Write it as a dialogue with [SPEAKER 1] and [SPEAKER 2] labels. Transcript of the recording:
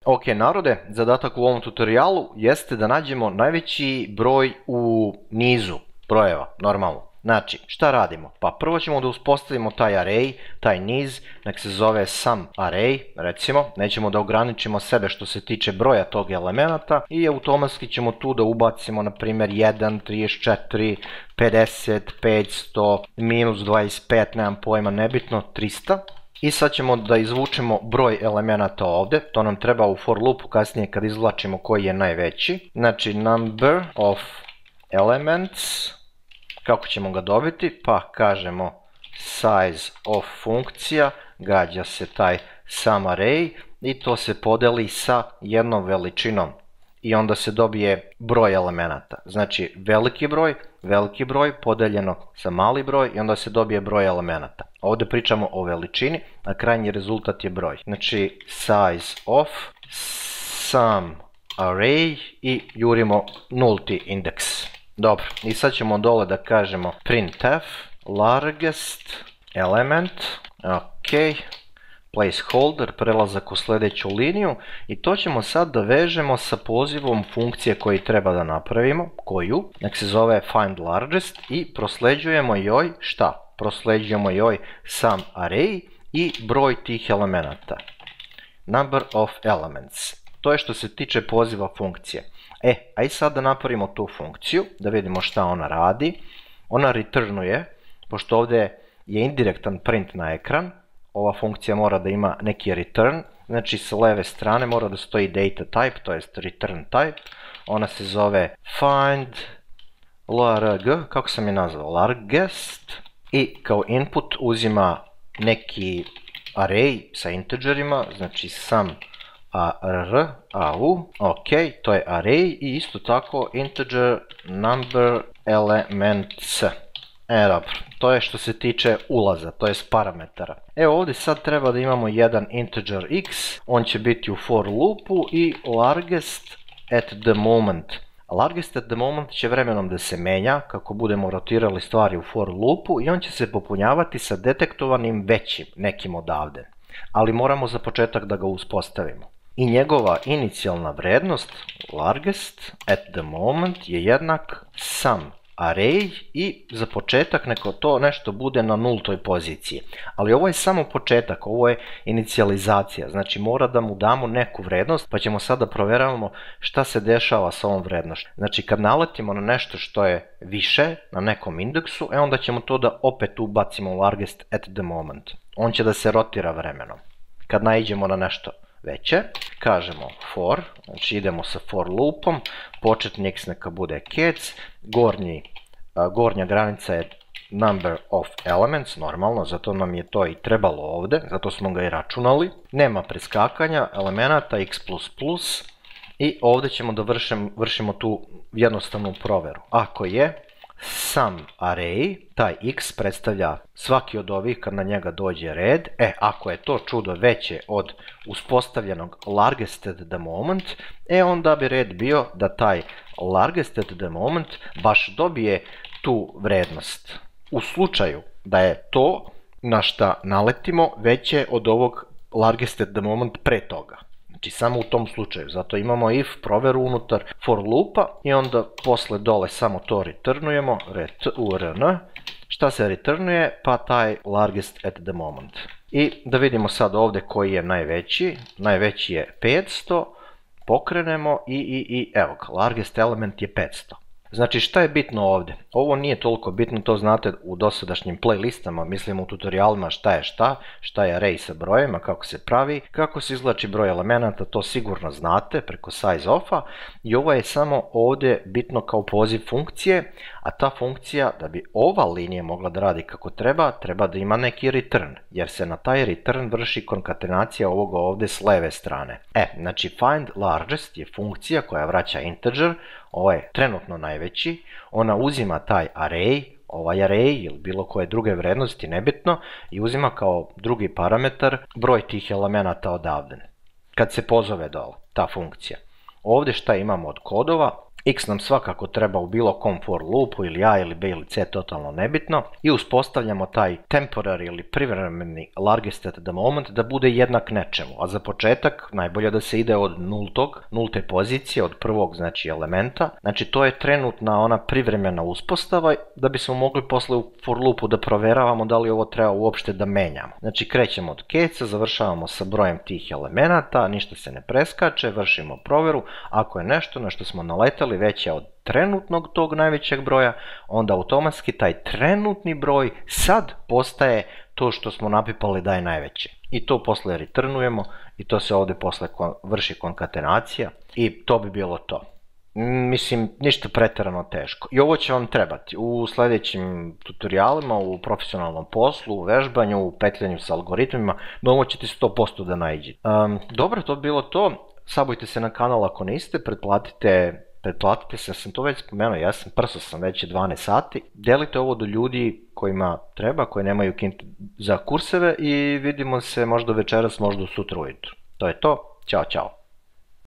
[SPEAKER 1] Ok, narode, zadatak u ovom tutorijalu jeste da nađemo najveći broj u nizu brojeva, normalno. Znači, šta radimo? Pa prvo ćemo da uspostavimo taj array, taj niz, nek se zove sum array, recimo. Nećemo da ograničimo sebe što se tiče broja tog elemenata i automatski ćemo tu da ubacimo, na primjer, 1, 34, 50, 500, minus 25, nemam pojma, nebitno, 300. I sad ćemo da izvučemo broj elemenata ovde, to nam treba u for loopu kasnije kad izvlačimo koji je najveći. Znači number of elements, kako ćemo ga dobiti? Pa kažemo size of funkcija, gađa se taj sum array i to se podeli sa jednom veličinom. I onda se dobije broj elemenata. Znači veliki broj podeljeno sa mali broj i onda se dobije broj elemenata. Ovdje pričamo o veličini, a krajnji rezultat je broj. Znači size of sum array i jurimo nulti indeks. Dobro, i sad ćemo dole da kažemo printf largest element, ok, placeholder, prelazak u sljedeću liniju i to ćemo sad da vežemo sa pozivom funkcije koji treba da napravimo, koju, nek se zove find largest i prosleđujemo joj šta? Prosleđujemo joj sum array i broj tih elemenata. Number of elements. To je što se tiče poziva funkcije. Aj sad da napravimo tu funkciju, da vidimo šta ona radi. Ona returnuje, pošto ovdje je indirektan print na ekran, ova funkcija mora da ima neki return, znači sa leve strane mora da stoji data type, to jest return type. Ona se zove find larg, kako sam je nazvao, largest, i kao input uzima neki array sa integerima, znači sum au, ok, to je array i isto tako integer number elements. Dobro, to je što se tiče ulaza, to je parametara. Evo ovdje sad treba da imamo jedan integer x, on će biti u for loopu i largest at the moment. Largest at the moment će vremenom da se menja kako budemo rotirali stvari u for loopu i on će se popunjavati sa detektovanim većim nekim odavde. Ali moramo za početak da ga uspostavimo. I njegova inicijalna vrednost, largest at the moment, je jednak sum array i za početak neko to nešto bude na nultoj poziciji. Ali ovo je samo početak, ovo je inicijalizacija, znači mora da mu damo neku vrednost, pa ćemo sad da provjeravamo šta se dešava sa ovom vrednošću. Znači kad naletimo na nešto što je više na nekom indeksu, onda ćemo to da opet ubacimo u largest at the moment. On će da se rotira vremenom. Kad naiđemo na nešto veće, kažemo for, znači idemo sa for loopom, početni x neka bude kec, gornja granica je number of elements, normalno, zato nam je to i trebalo ovdje, zato smo ga i računali. Nema preskakanja, elemenata x++ i ovdje ćemo da vršimo tu jednostavnu provjeru. Ako je sum array, taj x predstavlja svaki od ovih kad na njega dođe red, ako je to čudo veće od uspostavljenog largest at the moment, onda bi red bio da taj largest at the moment baš dobije tu vrednost. U slučaju da je to na šta naletimo veće od ovog largest at the moment pre toga. Znači samo u tom slučaju, zato imamo if provjeru unutar for loopa i onda posle dole samo to returnujemo, return. Šta se returnuje? Pa taj largest at the moment. I da vidimo sad ovdje koji je najveći, najveći je 500, pokrenemo i evo ga, largest element je 500. Znači šta je bitno ovdje? Ovo nije toliko bitno, to znate u dosadašnjim playlistama, mislim u tutorijalima šta je array sa brojevima, kako se pravi, kako se izvlači broj elemenata, to sigurno znate preko size ofa i ovo je samo ovdje bitno kao poziv funkcije, a ta funkcija da bi ova linija mogla da radi kako treba, treba da ima neki return, jer se na taj return vrši konkatenacija ovoga ovdje s leve strane. Znači find largest je funkcija koja vraća integer, ovo je trenutno najveći, ona uzima taj array, ovaj array ili bilo koje druge vrednosti, nebitno, i uzima kao drugi parametar broj tih elemenata odavde. Kad se pozove dole ta funkcija. Ovdje šta imamo od kodova? X nam svakako treba u bilo kom for loopu, ili A ili B ili C, totalno nebitno, i uspostavljamo taj temporary ili privremeni largest at the moment da bude jednak nečemu, a za početak najbolje da se ide od nulte pozicije, od prvog znači elementa, znači to je trenutna ona privremena uspostava da bismo mogli posle u for loopu da proveravamo da li ovo treba uopšte da menjamo. Znači krećemo od keca, završavamo sa brojem tih elemenata, ništa se ne preskače, vršimo proveru, ako je nešto na što smo naletali veće od trenutnog tog najvećeg broja, onda automatski taj trenutni broj sad postaje to što smo napipali da je najveće. I to posle returnujemo i to se ovdje posle vrši konkatenacija i to bi bilo to. Mislim, ništa pretjerano teško. I ovo će vam trebati u sljedećim tutorijalima, u profesionalnom poslu, u vežbanju, u petljanju sa algoritmima, no ovo ćete 100% da naiđete. Dobro, to bi bilo to. Subujte se na kanal ako niste, pretplatite se, sam to već spomenuo, prso sam već 12 sati. Delite ovo do ljudi kojima treba, koji nemaju kintu za kurseve i vidimo se možda večeras, možda sutra ujutro. To je to, ćao.